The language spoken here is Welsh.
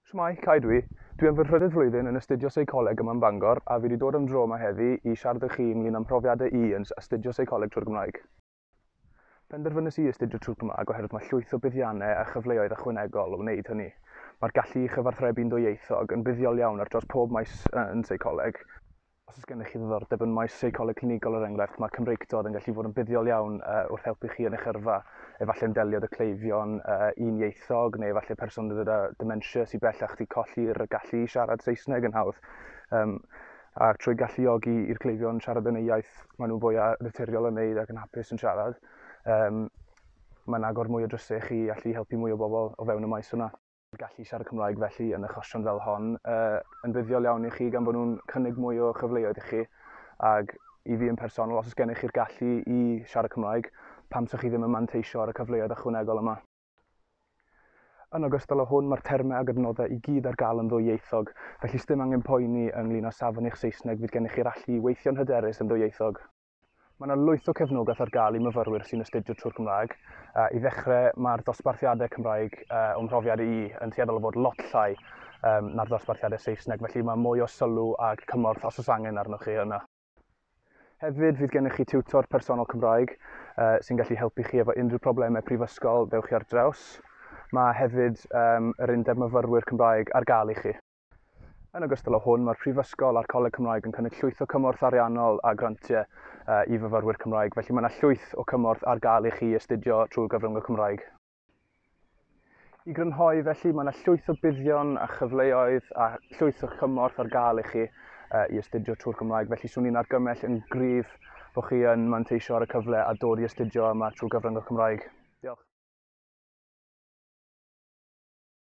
Shwmae, Cai dwi. Dwi yn fy nhrydydd flwyddyn yn astudio seicoleg yma yn Bangor a fi wedi dod am dro yma heddi i siarad â chi ynglyn â'm mhrofiadau i yn astudio seicoleg trwy'r Gymraeg. Penderfynais i astudio trwy'r Gymraeg oherwydd mae llwyth o buddiannau a chyfleoedd ychwanegol o wneud hynny. Mae'r gallu i chyfathrebu'n ddwyieithog yn buddiol iawn ar draws pob maes yn seicoleg. Os oes gennych chi ddiddordeb yn maes seicoleg clinigol er enghraifft, mae Cymreictod yn gallu fod yn buddiol iawn wrth helpu chi yn eich yrfa. Efallai'n delio 'da cleifion unieithog neu efallai person gyda dementia sydd bellach wedi colli'r gallu i siarad Saesneg yn hawdd. A trwy galluogi i'r cleifion siarad yn eu iaith maen nhw'n fwy naturiol yn wneud ac yn hapus yn siarad, mae'n agor mwy o drysau i chi allu helpu mwy o bobl o fewn y maes yna. Gallu siarad Cymraeg felly yn achosion fel hon yn fuddiol iawn i chi gan bod nhw'n cynnig mwy o chyfleoedd i chi, ac i fi yn personol, os oes gennych chi'r gallu i siarad Cymraeg, pam 'sech chi ddim yn manteisio ar y cyfleoedd ychwanegol yma? Yn ogystal â hwn, mae'r termau ac adnoddau i gyd ar gael yn ddwyieithog, felly sdim angen poeni ynglyn â safon eich Saesneg, fydd gennych chi'r allu i weithio'n hyderus yn ddwyieithog. Mae yna lwyth o cefnogaeth ar gael i myfyrwyr sy'n astudio trwy'r Gymraeg. I ddechrau, mae'r dosbarthiadau Cymraeg o'm mhrofiad i yn tueddol o fod lot llai na'r dosbarthiadau Saesneg, felly mae mwy o sylw ac cymorth os oes angen arnoch chi yna. Hefyd, fydd gennych chi tiwtor personol Cymraeg sy'n gallu helpu chi efo unrhyw problemau prifysgol ddewch chi ar draws. Mae hefyd yr Undeb Myfyrwyr Cymraeg ar gael i chi. Yn ogystal â hwn, mae'r Prifysgol a'r Coleg Cymraeg yn cynnig llwyth o cymorth ariannol a grantiau i fyfyrwyr Cymraeg, felly mae yna llwyth o cymorth ar gael i chi astudio trwy gyfrwng y Cymraeg. I grynhoi felly, mae yna llwyth o buddion a chyfleoedd a llwyth o chymorth ar gael i chi i astudio trwy'r Gymraeg, felly swn i'n argymell yn gryf bod chi yn manteisio ar y cyfle a dod i astudio yma trwy gyfrwng y Cymraeg.